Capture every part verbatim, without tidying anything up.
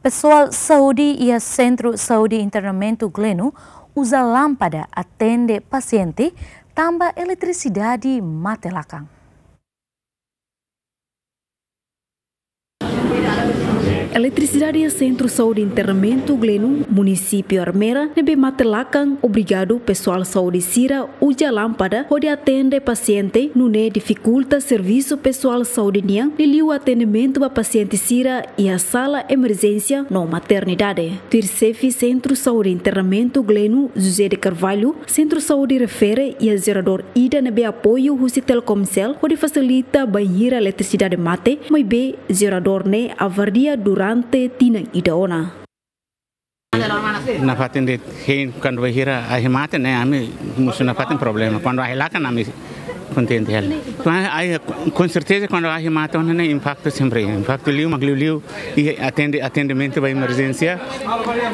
Pesoál saúde iha Sentru Saúde Internamentu Gleno uza lánpada atende pasiente tanba eletrisidade mate lakan. Eletrisidade iha Sentru Saúde Internamentu Gleno, Munisípiu Ermera, ne'ebé mate lakan, obriga pesoál saúde sira uza lánpada hodi atende pasiente, nune'e difikulta servisu pesoál saúde nian, liuliu atendimentu ba pasiente sira iha sala emerjénsia no maternidade. Tuir xefe Sentru Saúde Internamentu Gleno, José de Carvalho, Sentru Saúde refere iha jeradór ida ne'ebé apoiu husi Telkomcel hodi fasilita bainhira eletrisidade mate, maibé jeradór ne'e avardia durante tinan ida ona. Nafatin de'it hein kuandu bainhira ahi mate ne'e ami mosu nafatin problema. Kuandu ahi lakan ami kontente hela. Kuandu ahi, com certeza kuandu ahi mate ona ne'e impaktu sempre. Impaktu liu mak liuliu iha atende, atendimentu ba emerjénsia.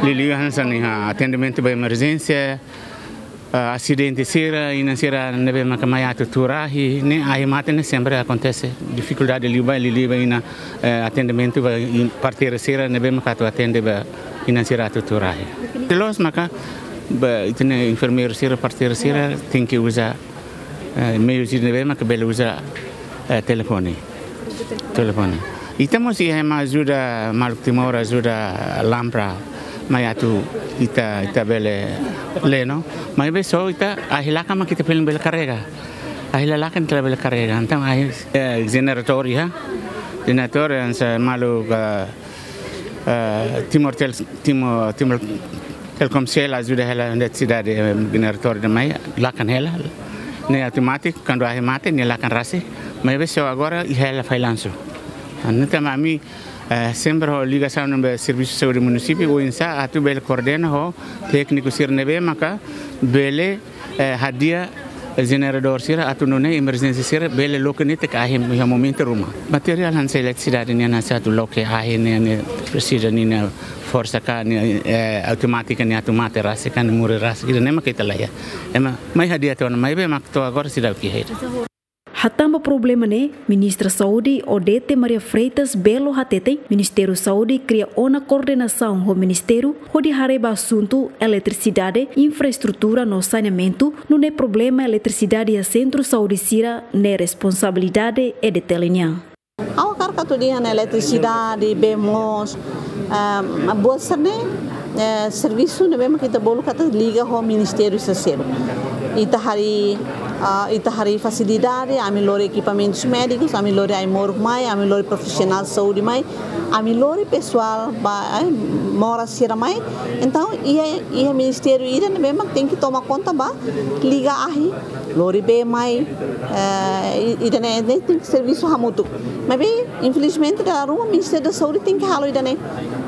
Liuliu hanesan iha atendimentu ba emerjénsia, ah, asidente sira, inan sira ne'ebé maka mai atu tuur ahi, ne'e ahi mate ne'e sempre akontese. Difikuldade liu ba, liuliu ba iha, eh, atendimentu ba in-, parteira sira ne'ebé maka atu atende ba inan sira atu tuur ahi. Loos maka ba ita-nia enfermeiru sira, parteira sira tenke uza, eh, meius ne'ebé maka bele uza, eh, telefone. Telefone. Ita mós iha ema ajuda, maluk Timor ajuda lánpada mai atu ita, ita bele lee, no? Maibé só ita ahi lakan mak ita foin bele karrega. Ahi la lakan ita la bele karrega. Entaun ahi, eh, jeneradór iha. Jeneradór hanesan maluk, eh, eh, Timor Tel-, Timor, Timor Telkomcel ajuda hela eletrisidade, eh, jeneradór ida mai, lakan hela. Ne'e automátiku, kuandu ahi mate, ne'e lakan rasik. Maibé só agora iha hela fallansu. Entaun ami, eh, sempre ho ligasaun ne'ebé servisu saúde munisípiu, oinsá atu bele koordena ho tékniku sira ne'ebé maka bele, eh, hadi'a jeneradór sira atu nune'e emerjénsia sira bele loke netik ahi iha momentu ruma. Materiál hanesan eletrisidade nian hanesan atu loke ahi ne'e, ne'e presiza ninia forsa ka ne'e, eh, automátika ne'e atu mate rasik ka ne'e muri rasik, ida-ne'e mak ita la iha. Ema mai hadi'a tiha ona maibé mak to'o agora seidauk iha. Hatán ba problema ne'e, Ministra Saúde Odete Maria Freitas Belo hateten, Ministériu Saúde kria ona koordenasaun ho ministériu hodi haree ba asuntu eletrisidade, infraestrutura no saneamentu, nune'e problema eletrisidade iha sentru saúde sira ne'e responsabilidade EDTL nian. Ha'u hakarak atu dehan eletrisidade, bee moos, ah, buat sira-ne'e, eh, servisu ne'ebé mak ita bolu katak liga ho ministériu sira seluk. Ita harii, ah, ita harii fasilidade, ami lori ekipamentus médikus, ami lori ai-moruk mai, ami lori profisionál saúde mai, ami lori pesoál ba, eh, moras sira mai. Entaun, iha, iha ministériu ida ne'ebé mak tenke toma konta ba liga ahi, lori bee mai, eh, i-, ida-ne'e, ne'e tenke servisu hamutuk. Maibé, infelizmente, dala ruma Ministériu da Saúde tenke halo ida-ne'e.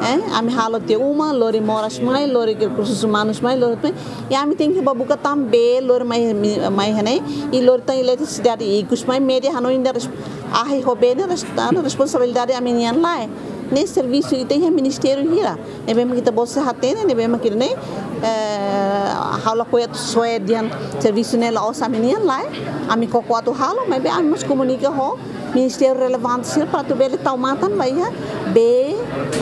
Eh, ami halo tiha uma, lori moras mai, lori rekursus umanus mai, lori tuir. I ami tenke bá buka tan bee, lori mai, mi-, mai iha-ne'e, i lori tan eletrisidade ikus mai, média hanoin ida res-, ahi ho bee ne'e res-, anu, responsabilidade ami-nian lae. Ne'e servisu ita iha ministériu hira. Ne'ebé mak ita-boot sei hatene, ne'ebé mak ita-nia, eh, ha'u lakohi atu soe dehan servisu ne'e la'ós ami-nian lae, ami koko atu halo, maibé ami mós komunika ho ministériu relevante sira para atu bele tau matan ba iha bee,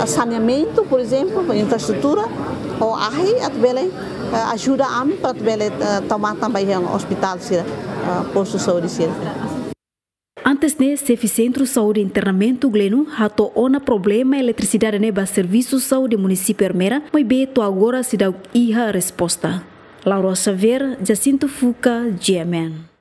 saneamentu, por ezemplu, infraestrutura, ho ahi atu bele, eh, ajuda ami para atu bele, eh, tau matan ba iha ospitál sira, eh, postu saúde sira. Antes ne'e, xefe Sentru Saúde Internamentu Gleno hato'o ona problema eletrisidade ne'e ba servisu saúde munisípiu Ermera, maibé to'o agora seidauk iha resposta. Laura Xavier, Jacinto Fuca, G M N.